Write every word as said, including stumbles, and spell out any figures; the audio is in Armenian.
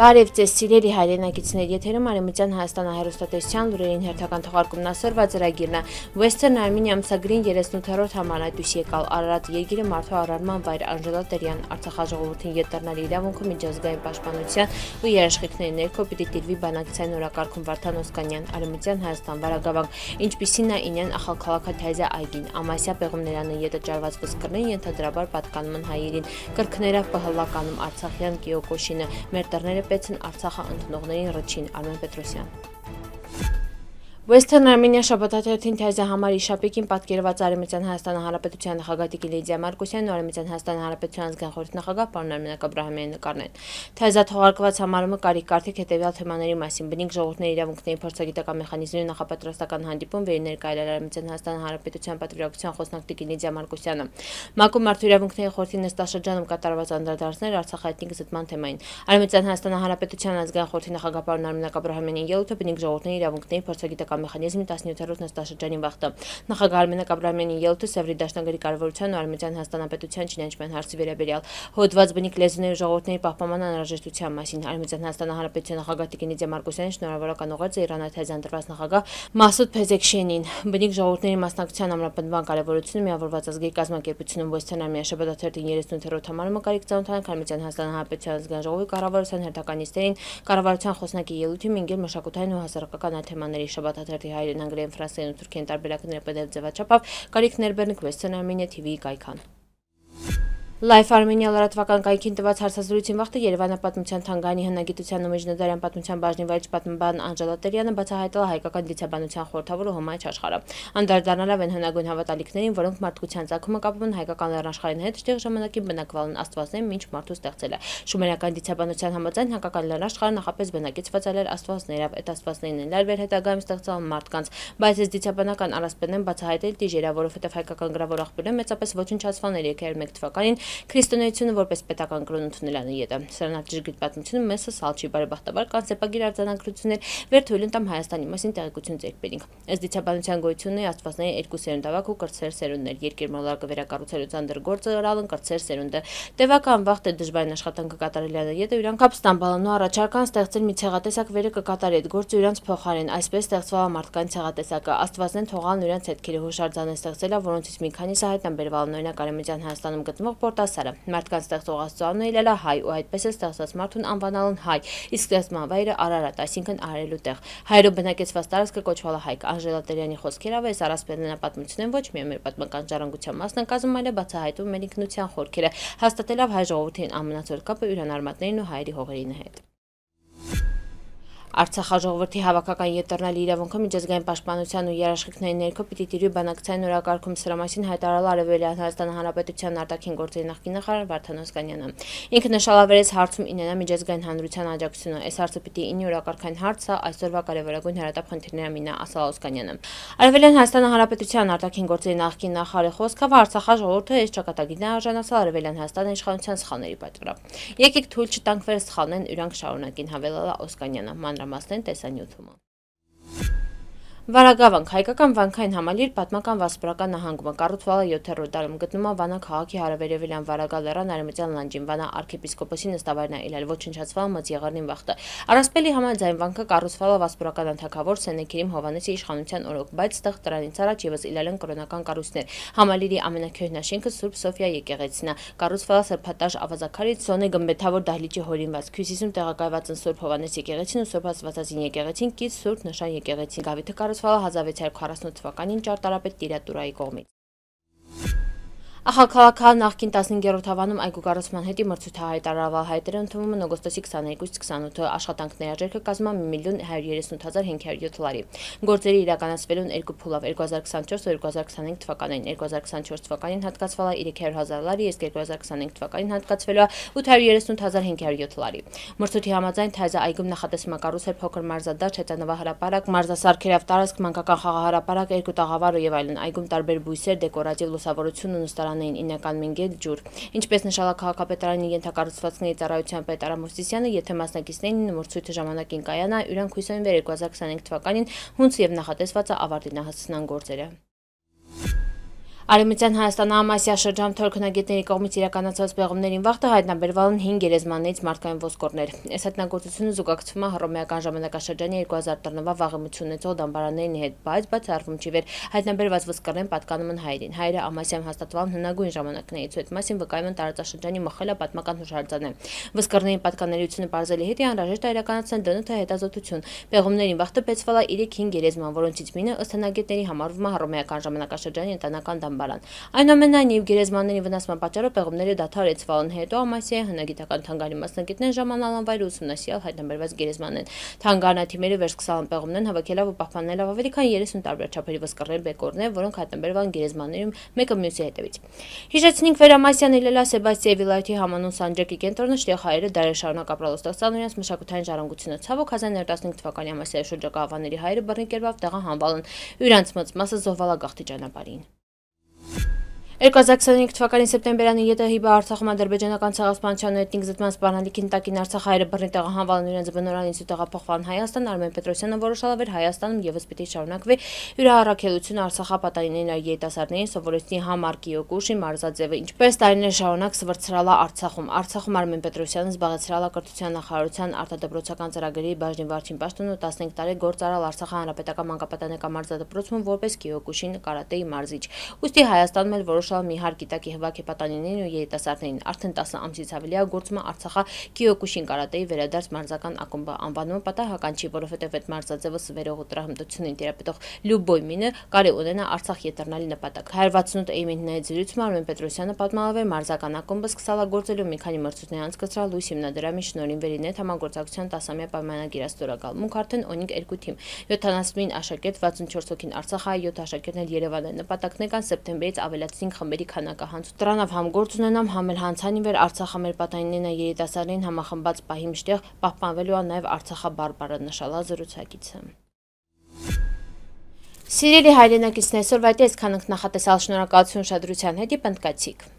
Բարև ձեզ սիրելի հայրենակիցներ, եթերում Արևմտյան Հայաստանը հեռուստատեսության լուրերին հերթական թողարկումն ասորվա ծրագիրն է։ Western Armenia ամսագրին երեսունութերորդ համարը դույս եկալ Արարատ երկիրը մարդու առարման վայր Անժելա Տերյան Արցախաժողովրդին յետռնալի իրավունքը միջազգային պաշտպանության ու երաշխիքների ներքո պիտի տիրվի բանակցային օրակարգում Վարդան Օսկանյան Արևմտյան Հայաստան վարագավանք, ինչպիսին է ինյան ախալքալաքաթայզե այգին, ամասյա պեղումներանը ետը ճարված վսկրներին ենթադրաբար պատկանում են հայերին, կրկներավ պհլականում Արցախյան Կիոկոշինը, մեր տռները Պեցն Արցախը ընդունողներին ռչին Արմեն Պետրոսյան։ Western Armenia շաբաթաթերթին թեզը համար իշապիկին պատկերված Արևմտյան Հայաստանի Հանրապետության նախագահ Տիկին Լիդիա Մարկոսյանն ու Արևմտյան Հայաստանի Հանրապետության ազգային խորհրդի նախագահ պարոն Արմենակ Աբրահամյանի նկարներն։ Թեզա թողարկված համարումը կարիք կարդիք հետևյալ թեմաների մասին՝ բնիկ ժողովուրդների իրավունքների փորձագիտական մեխանիզմների նախապատրաստական հանդիպում վեր ներկայացրել Արևմտյան Հայաստանի Հանրապետության պատվիրակության խոսնակ Տիկին Լիդիա Մարկոսյանը։ ՄԱԿ-ում մարդու իրավունքների խորհրդի նստաշրջանում կատարված անդրադարձներ Արցախայտնի զտման թեմային։ Արևմտյան Հայաստանի Հանրապետության ազգային խորհրդի նախագահ պարոն Արմենակ Աբրահամյանի ելույթը բնիկ ժողովուրդների իրավունքների փորձագիտական մեխանիզմի տասնյոթերորդ նստաշրջանի վախտը։ Նախագահ Արմենակ Աբրահամյանի ելույթը Սևրի դաշնագրի կառավարության ու Արևմտյան Հայաստանապետության ճանաչման հարցի վերաբերյալ հոդված բնիկ լեզուների ու ժողովուրդների պահպանման անհրաժեշտության մասին։ Արևմտյան Հայաստանի Հանրապետության նախագահ Տիկին Լիդիա Մարկոսյանը շնորհավորական ուղերձ է Իրանաթեզյան դրված նախագահ Մասուդ Փեզեքշենին։ Բնիկ ժողովուրդների մասնակցության ամրապնդման կարևորությունը միավորված ազգերի կազմակերպությունում Western Armenia շաբաթաթերթին երեսունութերորդ համարումը կարիք ծանոթանանք Արևմտյան Հայաստանի Հանրապետության ազգային ժողովի կառավարության հերթականիստերին կառավարության խոսնակի ելույթի մինգել մշակութային ու հասարակական թեմաների շաբաթաթերթի հայերեն անգլերեն ֆրանսերեն ու թուրքերեն տարբերակները պդեֆ ձևաչափով կարիք ներբեռնք Western Armenia T V-ի կայքան։ Life Armenia լրատվական կայքին տված հարցազրույցին վաղտը Երևանը պատմության թանգարանի հնագիտության ու միջնադարյան պատմության բաժնի վարիչ պատմաբան Անժելա Տերյանը բացահայտել հայկական դիցաբանության խորհրդավոր ու հմայիչ աշխարհը, անդրադառնալով այն հնագույն հավատալիքներին, որոնք մարդկության ծագումը կապում են հայկական լեռնաշխարհին հետ, ճիշտ ժամանակին բնակվալն աստվածներին մինչ մարդու ստեղծելը։ Շումերական դիցաբանության համաձայն հայկական լեռնաշխարհը նախապես բնակից վծալել աստվածներով, այդ աստվածներն են լարվել հետագայում ստեղծել մարդկանց, բայց այս դիցաբանական առասպելն բացահայտել դիժերա, որովհետև հայկական գրավոր աղբյուրը մեծապես ոչնչացվել էր երկու հազար մեկ թվականին Քրիստոնեությունը որպես պետական կրոն ընդունել անիետը։ Սրանով ճշգրիտ պատմությունը մեզ սալ չի բարեբախտաբար կան սեպագիր արձանագրություններ, վեր թույլ են տամ Հայաստանի մասին տեղեկություն ձեռք բերենք։ Ըստ դիցաբանության գոյությունների աստվածների երկու սերունդավակ ու կրտսեր սերունդներ, երկիրմոլորակը վերակառուցելու ծանր գործը ըրալն կրտսեր սերունդը։ Տևական վաղտ է դժվարին աշխատանքը կատարել անիետը իրանք ապստամբալն ու առաջարկան ստեղծել մի ցեղատեսակ վերը կկատարի այդ գործը իրանց փոխարեն, այսպես ստեղծվել մարդկային ցեղատեսակը, աստվածներն թողալն իրանց հետքերի հուշարձան են ստեղծել, որոնցից մի քանիսը հայտնաբերվել օրինակ Արևմտյան Հայաստանում գտնվող Պորտասարը։ Մարդկանց ստեղծող աստծոն ելելա հայ ու այդպես է ստեղծված մարդուն անվանալն հայ, իսկ ստեղծման վայրը Արարատ, այսինքն արելու տեղ։ Հայերով բնակեցված տարածքը կոչվել է Հայք։ Անժելա Տերյանի խոսքերով այս առասպելն պատմությունն ոչ միայն մեր պատմական ժառանգության մասն են կազմում, այլև բացահայտում մեր ինքնության խորքերը, հաստատելով հայ ժողովրդին ամենածոր կապը իրան արմատներին ու հայերի հողերին հետ։ Արցախաժողովրդի հավաքական յետռնալի իրավունքը միջազգային պաշտպանության ու երաշխիքների ներքո պիտի տիրվի բանակցային օրակարգում սրա մասին հայտարարել Արևելյան Հայաստանի Հանրապետության արտաքին գործերի նախկին նախարար Վարդան Օսկանյանը։ Ինքը նշանակվեց հարցում ինենա միջազգային հանրության աջակցությունը։ Այս հարցը պիտի ինի օրակարգային հարց է, այսօրվա կարևորագույն հարատապ խնդիրների մինը, ասալ Օսկանյանը։ Արևելյան Հայաստանի Հանրապետության արտաքին գործերի նախկին նախարարի խոսքով Արցախաժողովուրդը այս ճակատագիրն է արժանացել Արևելյան Հայաստանի իշխանության սխալների պատճառով։ Եկեք թույլ չտանք վեր սխալներն իրանք շարունակին, հավելել է Օսկանյանը։ Մանրամասներն տեսանյութում։ Վարագավանք հայկական վանքային համալիր պատմական վասպուրական նահանգումը կառուցվել է յոթերորդ դարում գտնվում է Վանա քաղաքի հարավերևելյան Վարագա լեռան արևմտյան լանջին Վանա արքեպիսկոպոսի նստավայրն է իլել ոչնչացվել մծ եղեռնին վախտը։ Առասպելի համաձայն վանքը կառուցվել է վասպուրական անթագավոր Սենեքերիմ Հովհաննեսի իշխանության օրոք, բայց ստեղ դրանից առաջ եւս իլել են կրոնական կառույցներ։ Համալիրի ամենակրկինաշենքը Սուրբ Սոֆիա եկեղեցին է, կառուցվել է սրբատաշ ավազաքարից Սոնե գմբեթավոր դահլիճի հորինված, Հյուսիսում տեղակայված են Սուրբ Հովհաննես եկեղեցին ու Սուրբ Աստվածածին եկեղեցին, կից Սուրբ Նշան եկեղեցին։ Գավիթը կառուցվել է հազար վեցյակ քառասունութ թվականին ճարտարապետ Տիրատուրայի կողմից։ Ախալքալաքահ նախկին տասնհինգերորդ հավանում այգու կառուցման հետի մրցույթը հայտարարվել հայտերը ընդունվում են օգոստոսի քսաներկուսից քսանութը աշխատանքների արժեքը կազմում է մի միլիոն հարյուր երեսունութ հազար հինգ հարյուր յոթ լարի։ Գործերը իրականացվելու են երկու փուլով երկու հազար քսանչորս ու երկու հազար քսանհինգ թվականներին։ երկու հազար քսանչորս թվականին հատկացվել է երեք հարյուր հազար լարի, իսկ երկու հազար քսանհինգ թվականին հատկացվելու է ութ հարյուր երեսունութ հազար հինգ հարյուր յոթ լարի։ Մրցույթի համաձայն Թայզա այգում նախատեսվում է կառուցել փոքր մարզադաշտ, հեծանվահրապարակ, մարզասարքերով տարածք, մանկական խաղահրապարակ, երկու տաղավար ու եւ այլն։ Այգում տարբեր բույսեր, դեկորատիվ լուսավորություն ու նստարանային ինական մինգետ ջուր։ Ինչպես նշել է քաղաքապետարանի ենթակառուցվածքների ծառայության պետ Արամ Մովսիսյանը, եթե մասնակիցներին մրցույթը ժամանակին կայանա, իրանք հույս են վեր երկու հազար քսանհինգ թվականին հունց եւ նախատեսված է ավարտին հասցնան գործերը։ Արևմտյան Հայաստանը Ամասիա շրջանում թորքնագետների կողմից իրականացված պեղումներին վաղտը հայտնաբերվել են հինգ գերեզմաններից մարդկային ոսկորներ։ Այս հայտնագործությունը զուգակցվում է հռոմեական ժամանակաշրջանի երկու հազար տարվա վաղեմություն ունեցող դամբարանների հետ, բայց բացառվում չի վեր հայտնաբերված ոսկորներն պատկանում են հայերին։ Հայերը Ամասիայում հաստատվել են հնագույն ժամանակներից, այդ մասին վկայում են տարածաշրջանի մխելա պատմական հուշարձանը։ Ոսկորների պատկանելիությունը բարձելի հետ անհրաժեշտ է իրականացնել դն թե հետազոտություն։ Պեղումներին վաղտը բեցվել է երեք-հինգ գերեզման, որոնցից մինը ըստ հնագետների համարվում է հռոմեական ժամանակաշրջանի ընտանեկան դամբարան։ Այնուամենայնիվ գերեզմանների վնասման պատճառով պեղումները դադարեցվել են, հետո Ամասիայի հնագիտական թանգարանի մասնագետներն ժամանալ են վայր ուսումնասիրել հայտնաբերված գերեզմաններն։ Թանգարանաթիմերը վերսկսալ են պեղումներն հավաքելով ու պահպանելով ավելի քան երեսուն տարբեր չափերի ոսկորներ, բեկորներ, որոնք հայտնաբերվել են գերեզմաններում մեկը մյուսի հետևից։ Հիշեցնենք վեր Ամասիան Իլելա Սեբաստիայի վիլայեթի համանուն Սանջակի կենտրոնը, որտեղ հայերը դարեր շարունակ ապրել ու ստեղծել իրենց մշակութային ժառանգությունը։ Ցավոք հազար նորը տասնհինգ թվականի Ամասիայի շրջակա ավանների հայերը բռնի կերպով տեղահանվել են, իրանց մեծ մասը զոհվել է գաղթի ճանապարհին։ երկու հազար քսաներեք թվականի սեպտեմբերին ԵՏՀ-ի Արցախում ադրբեջանական ցեղասպանության ու էթնիկ զտման սպառնալիքի տակին Արցախ հայերը բռնի տեղահանվել են իրենց բնօրանից ու տեղափոխվել Հայաստան, Արմեն Պետրոսյանը որոշել էր Հայաստանում եւս պիտի շարունակվի հյուրահարակելությունը Արցախապատանիների երիտասարդներին սովորեցնի համար Կիոկուշի մարզաձևը, ինչպես տարիներ շարունակ սվրցրալ է Արցախում։ Արցախում Արմեն Պետրոսյանը զբաղեցրել է կրթության նախարարության արտադրոցական ծրագրերի բաժնի վարչին պաշտոնը ու տասնհինգ տարի գործարել Արցախի հանրապետական մանկապատանեկան մարզադպրոցում որպես Կիոկուշի կարատեի մարզիչ։ Ուստի Հայաստանում էլ որոշ մի հար գիտակի հվաքի պատանիներին ու երիտասարդներին արդեն տասը ամսից ավելի է գործում է Արցախի Կիոկուշին կարատեի վերադարձ մարզական ակումբը անվանումը պատահական չի, որովհետև այդ մարզաձևը սվերող ու տրամադրությունին տիրապետող լյուբոյ մինը կարի ունենա Արցախ ետեռնալի նպատակ։ one sixty-eight էյմենտների զրույցում Արմեն Պետրոսյանը պատմալավ է մարզական ակումբը սկսալ է գործելու մի քանի մրցույթներ անցկացրել լույս հիմնադրամի շնորհին վերինետ համագործակցության տասամյա պայմանագիր ստորագրել։ Մունք արդեն ունենք երկու թիմ, յոթանասունինը աշակերտ, վաթսունչորս հոգին Արցախի, յոթ աշակերտներ Երևան են։ Նպատակն է սեպտեմբերից ավելացնենք խմբերի քանակը հանց դրանով համ գործ ունենամ, համ էլ հանցանի վեր Արցախը մեր պատանիներն երիտասարդներին համախմբած պահի մշտեղ պահպանվելու է նաև Արցախաբարբարը, նշել է զրուցակիցը։ Սիրելի հայրենակիցներ, այսօրվա այդ այսքան ենք, նախատեսալ, շնորհակալություն ուշադրության հետ, պնդկացիք։